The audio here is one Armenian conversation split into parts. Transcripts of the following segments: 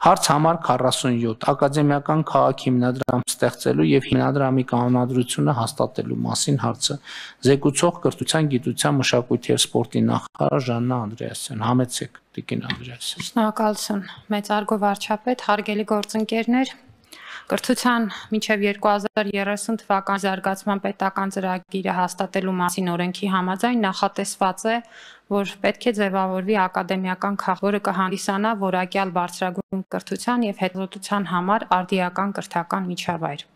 Հարց համար 47 ակադեմիական քաղաք հիմնադրամ ստեղծելու եւ հիմնադրամի կանոնադրությունը հաստատելու մասին հարցը զեկուցող կրթության, գիտության, մշակույթի եւ սպորտի նախարար Ժաննա Անդրեասյան։ Համեցեք, Տիկին Անդրեասյան։ Շնորհակալություն, մեծարգո վարչապետ, հարգելի գործընկերներ, կրթության մինչև 2030 թվականի զարգացման պետական ծրագիրը հաստատելու մասին օրենքի համաձայն նախատեսված է, որ պետք է ձևավորվի ակադեմիական քաղաք, որը կհանդիսանա որակյալ բարձրագույն կրթության եւ հետազոտության համար արդիական կրթական միջավայր։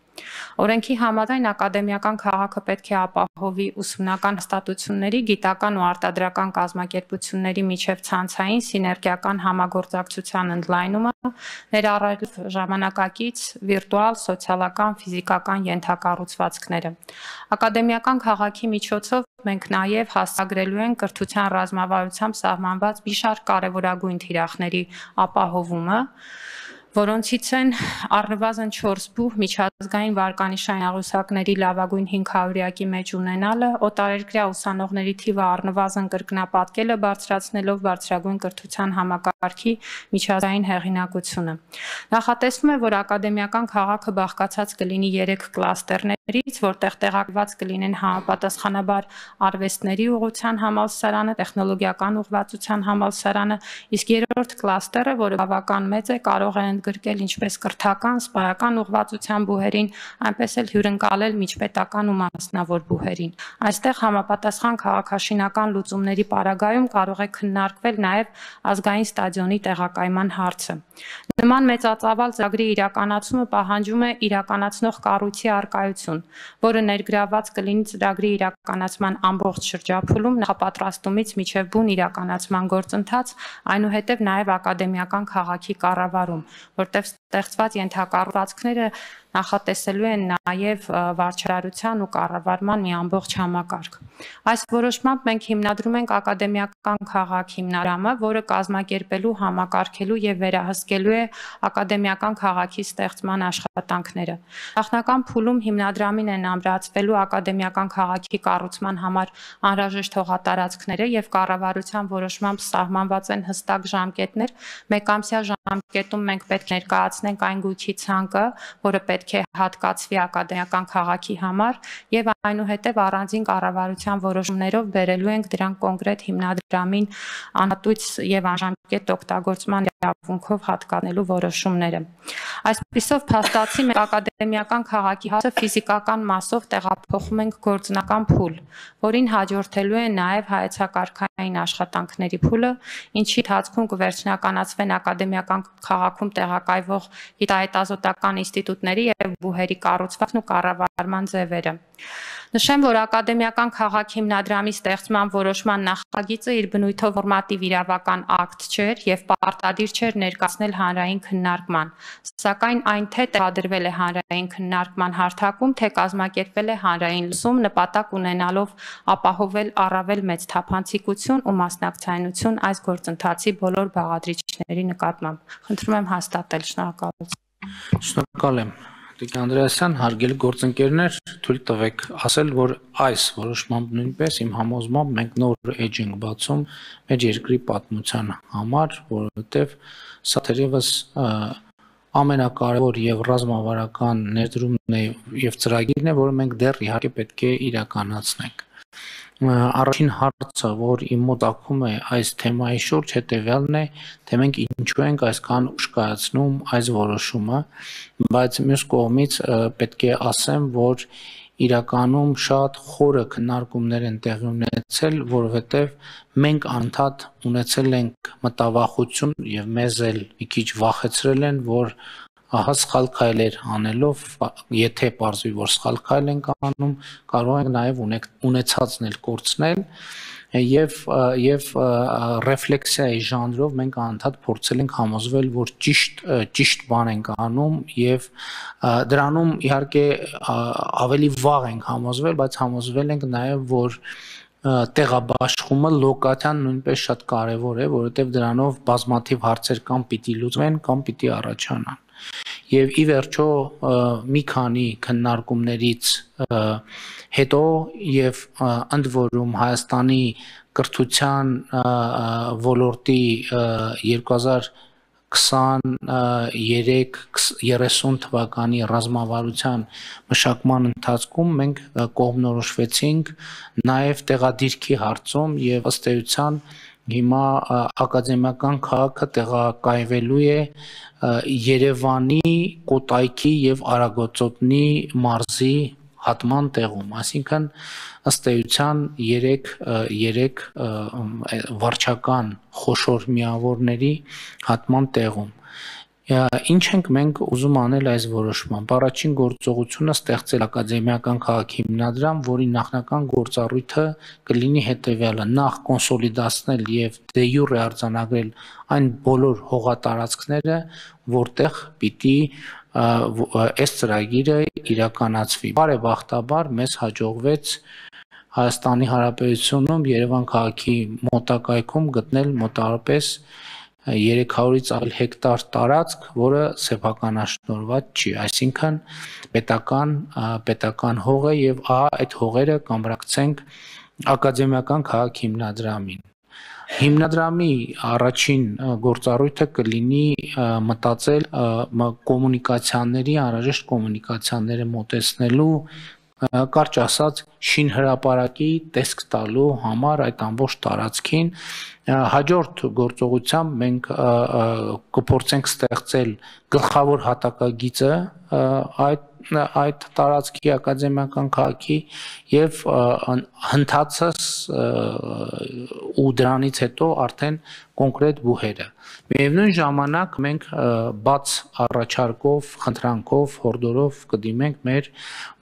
Օրենքի համաձայն ակադեմիական քաղաքը պետք է ապահովի ուսումնական հաստատությունների, գիտական ու արտադրական կազմակերպությունների միջև ցանցային սիներգիական համագործակցության ընդլայնումը, ներառյալ ժամանակակից, վիրտուալ, սոցիալական, ֆիզիկական ենթակառուցվածքները։ Ակադեմիական քաղաքի միջոցով մենք նաև հասցեագրելու ենք կրթության ռազմավարությամբ սահմանված մի շարք կարևորագույն թիրախների ապահովումը, որոնցից են առնվազն 4 բուհ միջազգային վարկանիշային աղյուսակների լավագույն 500-յակի մեջ ունենալը, օտարերկրյա ուսանողների թիվը առնվազն կրկնապատկելը, բարձրացնելով բարձրագույն կրթության համակարգի միջազգային հեղինակությունը։ Նախատեսվում է, որ ակադեմիական քաղաքը բաղկացած կլինի 3 կլաստերներից, որտեղ տեղակայված կլինեն համապատասխանաբար արվեստների ուղղության համալսարանը, տեխնոլոգիական ուղղվածության համալսարանը, իսկ երրորդ կլաստերը, որը բավական մեծ է, կարող է ընդգրկել ինչպես կրթական, սպայական ուղղվածության բուհերին, այնպես էլ հյուրընկալել միջպետական ու մասնավոր բուհերին։ Այստեղ համապատասխան քաղաքաշինական լուծումների պարագայում կարող է քննարկվել նաև ազգային ստադիոնի տեղակայման հարցը։ Նման մեծածավալ ծրագրի իրականացումը պահանջում է իրականացնող կառույցի առկայություն, որը ներգրավված կլինի ծրագրի իրականացման ամբողջ շրջափուլում նախապատրաստումից մինչև բուն իրականացման գործընթաց, այնուհետև նաև ակադեմիական քաղաքի կառավարում, որտեղ ստեղծված ենթակառուցվածքները նախատեսելու են նաև վարչարարության ու կառավարման մի ամբողջ համակարգ։ Այս որոշմամբ մենք հիմնադրում ենք ակադեմիական քաղաք հիմնադրամը, որը կազմակերպելու, համակարգելու եւ վերահսկելու է ակադեմիական քաղաքի ստեղծման աշխատանքները։ Նախնական փուլում հիմնադրամին են ամրացվելու ակադեմիական քաղաքի կառուցման համար անհրաժեշտ հողատարածքները եւ կառավարության որոշմամբ սահմանված են հստակ ժամկետներ։ Մեկամսյա ժամկետում մենք պետք է ներկայացնենք այն գույքի ցանկը, որը պետք է հատկացվի ակադեմիական քաղաքի համար եւ այնուհետեւ առանձին կառավարության որոշումներով բերելու ենք դրանք կոնկրետ հիմնադրամին անհատույց եւ անժամկետ օգտագործման իրավունքով հատկանելու որոշումները։ Այսպիսով փաստացի մենք ակադեմիական քաղաքի հարցը ֆիզիկական մասով տեղափոխում ենք գործնական փուլ, որին հաջորդելու է նաեւ հայեցակարգային աշխատանքների փուլը, ինչի ընթացքում կվերջնականացվեն ակադեմիական քաղաքում տեղակայվող գիտահետազոտական ինստիտուտների եւ բուհերի կառուցվածքն ու կառավարման ձևերը։ Նշեմ, որ ակադեմիական քաղաք հիմնադրամի ստեղծման որոշման նախագիծը իր բնույթով նորմատիվ իրավական ակտ չէր եւ պարտադիր չէր ներկայացնել հանրային քննարկման, սակայն այն թե տեղադրվել է հանրային քննարկման հարթակում, թե կազմակերպվել է հանրային լսում, նպատակ ունենալով ապահովել առավել մեծ թափանցիկություն ու մասնակցայնություն այս գործընթացի բոլոր բաղադրիչների նկատմամբ։ Խնդրում եմ հաստատել, շնորհակալություն։ Շնորհակալ եմ, Տիկին Անդրեասյան, հարգելի գործընկերներ, թույլ տվեք ասել, որ այս որոշմամբ նույնպես իմ համոզմամբ մենք նոր էջ ենք բացում մեր երկրի պատմության համար, որովհետև սա թերևս ամենակարևոր եւ ռազմավարական ներդրումն է եւ ծրագիրն է, որը մենք դեռ իհարկե պետք է իրականացնենք։ Առաջին հարցը, որ իմ մոտ ակում է այս թեմայի շուրջ, հետեւյալն է, թե մենք ինչու ենք այսքան ուշ կայացնում այս որոշումը, բայց մյուս կողմից պետք է ասեմ, որ իրականում շատ խորը քննարկումներ են տեղի ունեցել, որովհետև մենք անդադ ունեցել ենք մտավախություն եւ մեզ էլ մի քիչ վախեցրել են, որ ահա սխալ քայլեր անելով, եթե պարզվի, որ սխալ քայլ ենք անում, կարող ենք նաև ունեցածն էլ կորցնել եւ ռեֆլեքսիայի ժանրով մենք անդադ փորձել ենք համոզվել, որ ճիշտ բան ենք անում եւ դրանում իհարկե ավելի վաղ ենք համոզվել, բայց համոզվել ենք նաև, որ տեղաբաշխումը լոկացիան նույնպես շատ կարևոր է, որովհետև դրանով բազմաթիվ հարցեր կամ պիտի լուծվեն, կամ պիտի առաջանան։ Եվ ի վերջո մի քանի քննարկումներից հետո եւ ընդ որում Հայաստանի կրթության ոլորտի 23-30 թվականի ռազմավարության մշակման ընթացքում մենք կողմնորոշվեցինք նաև տեղադիրքի հարցում եւ ըստ էության հիմա ակադեմիական քաղաքը տեղակայվելու է Երևանի, Կոտայքի եւ Արագածոտնի մարզի հատման տեղում, այսինքն ըստ էության 3 վարչական խոշոր միավորների հատման տեղում։ Ինչ ենք մենք ուզում անել այս որոշմամբ։ Առաջին գործողությունը ստեղծել ակադեմիական քաղաք հիմնադրամ, որի նախնական գործառույթը կլինի հետևյալը՝ նախ կոնսոլիդացնել եւ դե յուրե արձանագրել այն բոլոր հողատարածքները, որտեղ պիտի այս ծրագիրը իրականացվի։ Բարեբախտաբար մեզ հաջողվեց Հայաստանի Հանրապետությունում Երևան քաղաքի մոտակայքում գտնել մոտավորապես 300-ից ավել հեկտար տարածք, որը սեփականաշնորհված չի, այսինքն պետական հող է եւ այդ հողերը կամրակցենք ակադեմիական քաղաք հիմնադրամին։ Հիմնադրամի առաջին գործառույթը կլինի մտածել կոմունիկացիաների, անհրաժեշտ կոմունիկացիաները մոտեցնելու, կարճ ասած, շինհրապարակի տեսք տալու համար այդ ամբողջ տարածքին։ Հաջորդ գործողությամբ մենք կփորձենք ստեղծել գլխավոր հատակագիծը այդ տարածքի ակադեմիական քաղաքի եւ հնդածս ու դրանից հետո արդեն կոնկրետ բուհերը։ Միևնույն ժամանակ մենք բաց առաջարկով, խնդրանքով, հորդորով կդիմենք մեր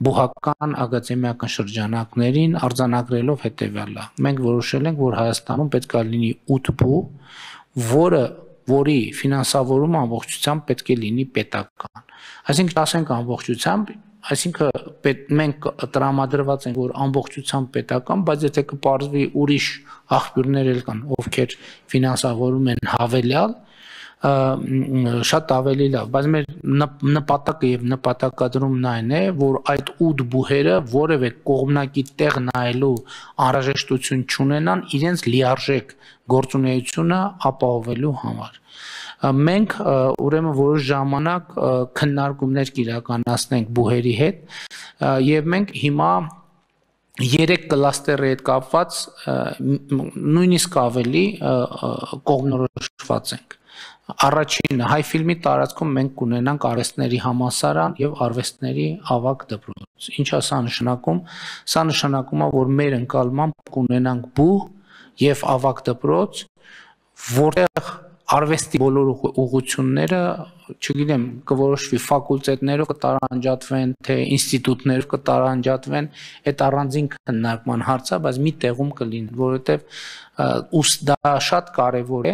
բուհական ակադեմիական շրջանակներին արձանագրելով հետևյալը։ Մենք որոշել ենք, որ Հայաստանում պետք է լինի 8 բու, որի ֆինանսավորումը ամբողջությամբ պետք է լինի պետական։ Այսինքն ասենք ամբողջությամբ, այսինքն մենք տրամադրված ենք, որ ամբողջությամբ պետական, բայց եթե կպարզվի ուրիշ աղբյուրներ էլ կան, ովքեր ֆինանսավորում են հավելյալ, շատ ավելի լավ, բայց մեր նպատակը եւ նպատակադրումն այն է, որ այդ 8 բուհերը որևէ կողմնակի տեղ նայելու անհրաժեշտություն չունենան իրենց լիարժեք գործունեությունը ապահովելու համար։ Մենք ուրեմն որոշ ժամանակ քննարկումներ կիրականացնենք բուհերի հետ եւ մենք հիմա 3 կլաստերի հետ կապված նույնիսկ ավելի կողմնորոշված ենք։ Առաջինը հայ ֆիլմի տարածքում մենք կունենանք արվեստների համալսարան եւ արվեստների ավագ դպրոց։ Ինչ է սա նշանակում։ Սա նշանակում է, որ մեր ընկալմամբ կունենանք բուհ եւ ավագ դպրոց, որտեղ արվեստի բոլոր ուղղությունները, չգիտեմ, կորոշվի ֆակուլտետներով կտարանջատվեն, թե ինստիտուտներով կտարանջատվեն, այդ առանձին քննարկման հարց է, բայց մի տեղում կլինի, որովհետեւ դա շատ կարեւոր է։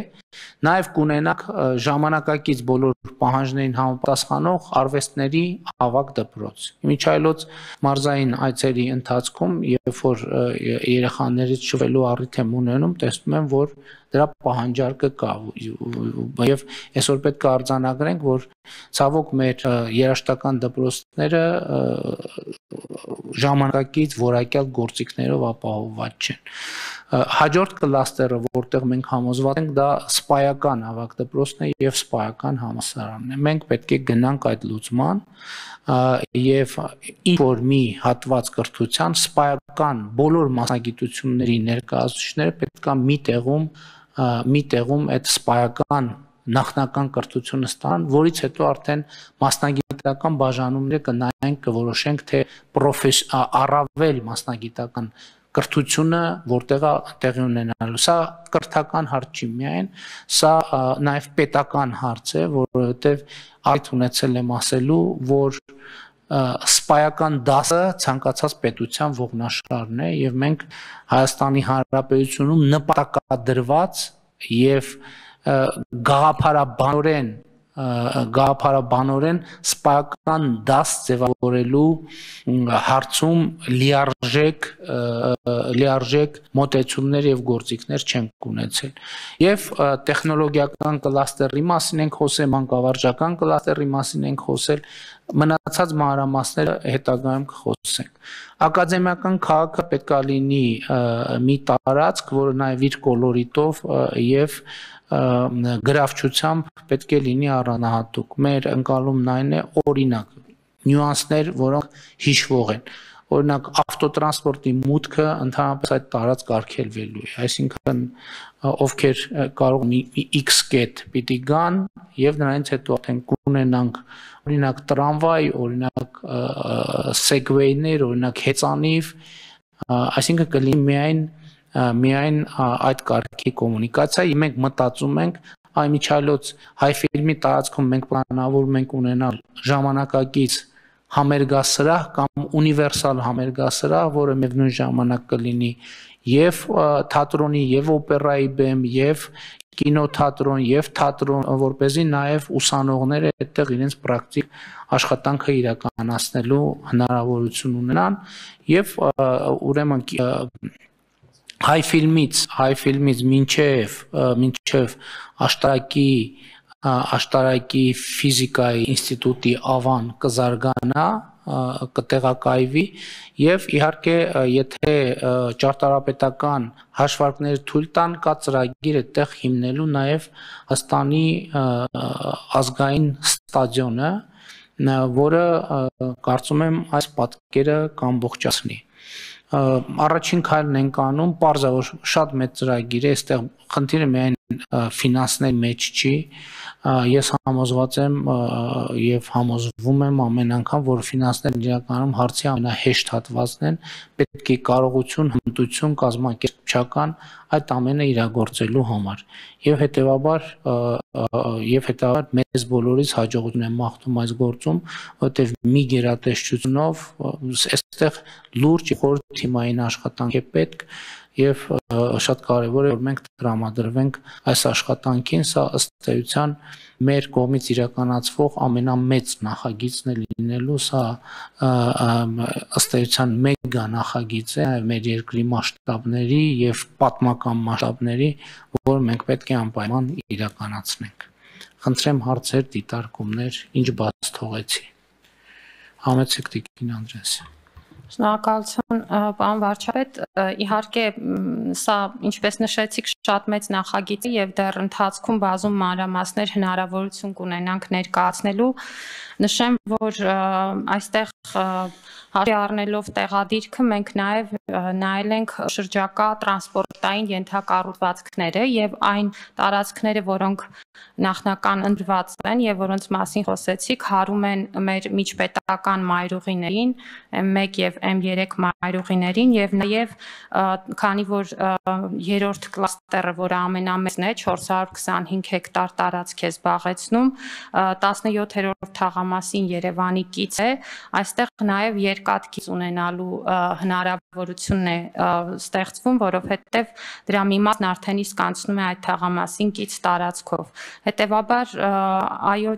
Նաեւ կունենանք ժամանակակից բոլոր պահանջներին համապատասխանող արվեստների ավագ դպրոց։ Միջայլոց մարզային այցերի ընթացքում, երբ որ երեխաներից շվելու առիթ եմ ունենում, տեսնում եմ, որ դրա պահանջարկը կա եւ այսօր պետք է արձանագրենք, որ ցավոք մեր երաժշտական դպրոցները ժամանակակից որակյալ գործիքներով ապահովված չեն։ Հաջորդ կլաստերը, որտեղ մենք համոզված ենք, դա սպայական ավագ դպրոցն է եւ սպայական համալսարանն է։ Մենք պետք է գնանք այդ լուծման եւ ինչ որ մի հատված կրթության սպայական բոլոր մասնագիտությունների ներկայացուցիչները պետք է մի տեղում այդ սպայական նախնական կրթությունը ստանան, որից հետո արդեն մասնագիտական բաժանումները կնայենք, կորոշենք, թե առավել մասնագիտական կրթությունը որտեղ է տեղի ունենալու։ Սա կրթական հարց չի միայն, սա նաև պետական հարց է, որովհետև այդ ունեցել եմ ասելու, որ սպայական դասը ցանկացած պետության ողնաշարն է եւ մենք Հայաստանի Հանրապետությունում նպատակադրված եւ գաղափարաբանորեն սպայական դաս ձևավորելու հարցում լիարժեք մոտեցումներ եւ գործիքներ չենք ունեցել։ Եվ տեխնոլոգիական կլաստերի մասին ենք խոսել, մանկավարժական կլաստերի մասին ենք խոսել, մնացած մանրամասները հետագայում կխոսենք։ Ակադեմիական քաղաքը պետք է լինի մի տարածք, որը նաև իր կոլորիտով եւ գրավչությամբ պետք է լինի առանձնահատուկ։ Մեր ընկալումն այն է, օրինակ, նյուանսներ, որոնք հիշվող են։ Օրինակ, ավտոտրանսպորտի մուտքը ընդհանրապես այդ տարածք արգելվելու է, այսինքն ովքեր կարող X կետ պիտի գան եւ նրանից հետո արդեն կունենանք օրինակ տրամվայ, օրինակ սեգվեյներ, օրինակ հեծանիվ, այսինքն կլինի միայն այդ կարգի կոմունիկացիա, եւ մենք մտածում ենք այ միջալոց հայ ֆիլմի տարածքում մենք պլանավորում ենք ունենալ ժամանակակից համերգասրահ կամ ունիվերսալ համերգասրահ, որը միևնույն ժամանակ կլինի եւ թատրոնի եւ օպերայի բեմ եւ կինոթատրոն եւ թատրոն, որպեսզի նաեւ ուսանողները այդտեղ իրենց պրակտիկ աշխատանքը իրականացնելու հնարավորություն ունենան եւ ուրեմն հայ ֆիլմից մինչև աշտարակի ֆիզիկայի ինստիտուտի ավան կզարգանա, կտեղակայվի եւ իհարկե եթե ճարտարապետական հաշվարկներ թույլ տան, կա ծրագիր այդտեղ հիմնելու նաեւ Հստանի ազգային ստադիոնը, որը կարծում եմ այս պատկերը կամբողջացնի։ Առաջին քայլն ենք անում, պարզ է, որ շատ մեծ ծրագիր է, այստեղ խնդիրը միայն ֆինանսների մեջ չի, ես համոզված եմ եւ համոզվում եմ ամեն անգամ, որ ֆինանսներն իրականում հարցի ամենահեշտ հատվածն են, պետք է կարողություն, հմտություն, կազմակերպչական այդ ամենը իրագործելու համար եւ հետեւաբար մեզ բոլորիս հաջողություն եմ մաղթում այս գործում, որտեղ մի գերատեսչությունով այստեղ լուրջ խորհրդ թիմային աշխատանք է պետք եւ շատ կարեւոր է որ մենք տրամադրվենք այս աշխատանքին, սա ըստ էության մեր կողմից իրականացվող ամենամեծ նախագիծն է լինելու, սա ըստ էության մեգա նախագիծ է մեր երկրի մասշտաբների եւ պատմական մասշտաբների, որ մենք պետք է անպայման իրականացնենք։ Խնդրեմ հարցեր, դիտարկումներ, ինչ բաց թողեցի։ Համեցեք Տիկին Անդրեասյան։ Շնորհակալություն, պարոն վարչապետ, իհարկե սա ինչպես նշեցիք շատ մեծ նախագիծ է եւ դեռ ընթացքում բազում մանրամասներ հնարավորություն կունենանք ներկայացնելու։ Նշեմ, որ այստեղ հաշվի առնելով տեղադիրքը մենք նաև նայել ենք շրջակա տրանսպորտային ենթակառուցվածքները եւ այն տարածքները, որոնք նախնական ընտրված են եւ որոնց մասին խոսեցիք, հարում են մեր միջպետական մայրուղիներին, M1 եւ M3 մայրուղիներին եւ նաեւ քանի որ երրորդ կլաստերը, որը ամենամեծն է, 425 հեկտար տարածք է զբաղեցնում, 17-րդ թաղամասին Երևանի կից է, այստեղ նաեւ երկաթգիծ ունենալու հնարավորությունն է ստեղծվում, որովհետեւ դրա մի մասն արդեն իսկ անցնում է այդ թաղամասին կից տարածքով։ Հետևաբար այո,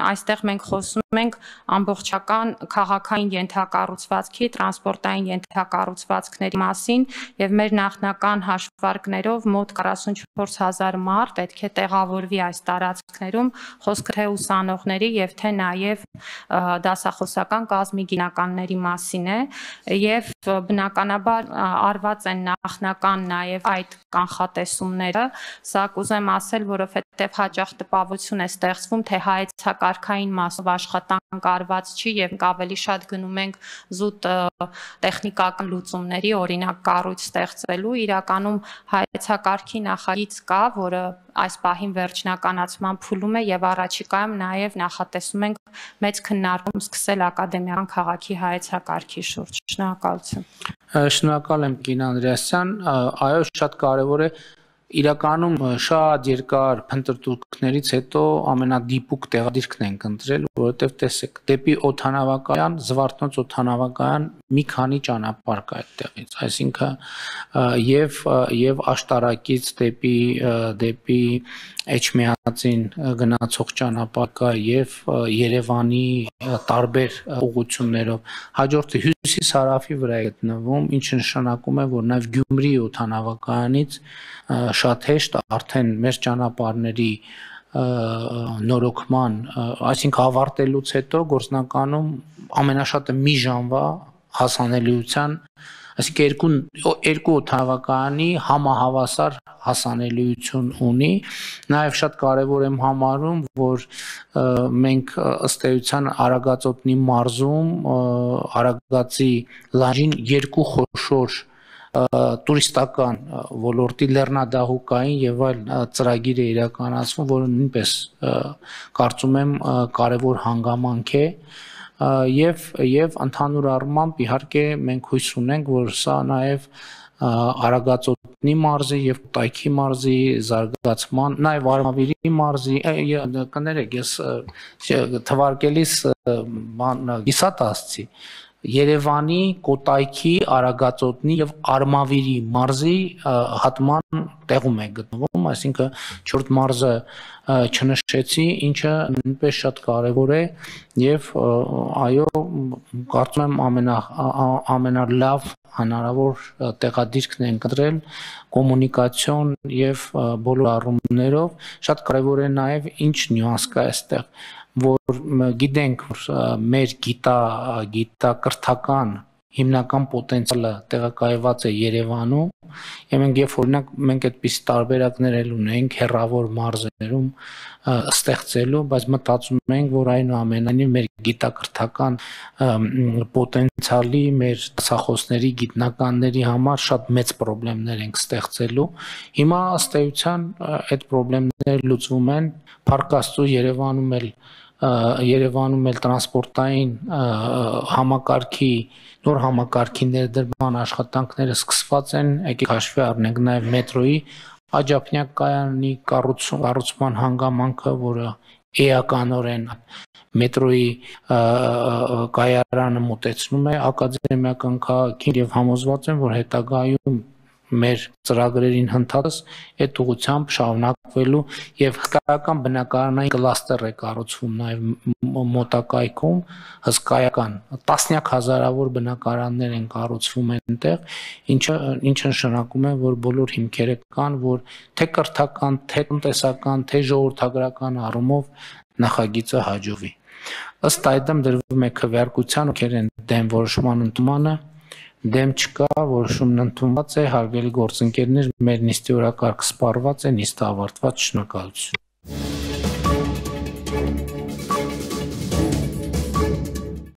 այստեղ մենք խոսում ենք ամբողջական քաղաքային ենթակառուցվածքի, տրանսպորտային ենթակառուցվածքների մասին եւ մեր նախնական հաշվարկներով մոտ 44000 մարդ պետք է տեղավորվի այս տարածքներում, խոսքը թե ուսանողների եւ թե նաեւ դասախոսական կազմի գիտնականների մասին է եւ բնականաբար արված են նախնական նաեւ այդ կանխատեսումները, սա կուզեմ ասել, որովհետեւ հաճախ տպավորություն է ստեղծվում, թե հայեցակարգային մասով աշխատանք արված չի եւ ավելի շատ գնում ենք զուտ տեխնիկական լուծումների, օրինակ կառույց ստեղծելու, իրականում հայեցակարգի նախագիծ կա, որը այս պահին վերջնականացման փուլում է եւ առաջիկայում նաեւ նախատեսում ենք մեծ քննարկում սկսել ակադեմիական քաղաքի հայեցակարգի շուրջ։ Շնորհակալություն։ Շնորհակալ եմ Կին Անդրեասյան, այո, շատ կարեւոր է իրականում շատ երկար փնտրտուքներից հետո ամենադիպուկ տեղադիրքն ենք ընտրել, որովհետև տեսեք, դեպի օդանավակայան, Զվարթնոց օդանավակայան մի քանի ճանապարհ կա այդտեղից, այսինքն եւ աշտարակից դեպի Էջմիածին գնացող ճանապարհ կա եւ Երևանի տարբեր ուղղություններով, հաջորդը հյուսիս-հարավի վրա է գտնվում, ինչը նշանակում է, որ նաեւ Գյումրի օդանավակայանից շատ հեշտ արդեն մեր ճանապարհների նորոգման, այսինքն ավարտելուց հետո գործնականում ամենաշատը մի ժամվա հասանելիության Այսինքն երկու օդանավակայանի համահավասար հասանելիություն ունի, նաև շատ կարևոր եմ համարում, որ մենք ըստ էության Արագածոտնի մարզում Արագածի լանջին երկու խոշոր տուրիստական ոլորտի լեռնադահուկային եւ այլ ծրագիր է իրականացվում, որը նույնպես կարծում եմ կարևոր հանգամանք է եւ ընդհանուր առմամբ իհարկե մենք հույս ունենք, որ սա նաեւ Արագածոտնի մարզի եւ Կոտայքի մարզի զարգացման, նաեւ Արմավիրի մարզի, կներեք, ես թվարկելիս գիսատ ասցի Երևանի, Կոտայքի, Արագածոտնի եւ Արմավիրի մարզի հատման տեղում է գտնվում, այսինքն 4 մարզը չնշեցի, ինչը նույնպես շատ կարևոր է եւ այո, կարծում եմ ամենալավ հնարավոր տեղադիրքն են կտրել կոմունիկացիոն եւ բոլոր առումներով, շատ կարևոր է նաեւ ինչ նյուանս կա այստեղ, որ գիտենք, որ մեր գիտակրթական հիմնական պոտենցիալը տեղակայված է Երևանում, եւ մենք այդպիսի տարբերակներ էլ ունենք հեռավոր մարզերում ստեղծելու, բայց մտածում ենք, որ այնուամենայնիվ մեր գիտակրթական պոտենցիալի, մեր դասախոսների, գիտնականների համար շատ մեծ խնդիրներ ենք ստեղծելու։ Հիմա ըստ էության այդ խնդիրները լուծվում են, Փառք Աստծո Երևանում էլ տրանսպորտային համակարգի նոր համակարգի ներդրման աշխատանքները սկսված են, եկեք հաշվի առնենք նաև մետրոյի աջափնյակ կայանի կառուցման հանգամանքը, որը էականորեն մետրոյի կայարանը մոտեցնում է ակադեմիական քաղաքին եւ համոզված եմ, որ հետագայում մեր ծրագրերին հնդածս այդ ուղղությամբ շարունակվելու եւ հսկայական բնակարանային կլաստեր է կառուցվում նաեւ մոտակայքում, հսկայական տասնյակ հազարավոր բնակարաններ են կառուցվում այնտեղ, ինչը նշանակում է, որ բոլոր հիմքերը կան, որ թե կրթական, թե տնտեսական, թե ժողովրդագրական առումով նախագիծը հաջողվի։ Ըստ այդմ դրվում է քվեարկության, ովքեր են դեմ որոշման ընդունմանը, դեմ չկա, որոշումն ընդունված է, հարգելի գործընկերներ, մեր նիստի օրակարգը սպառված է, նիստը ավարտված, շնորհակալություն։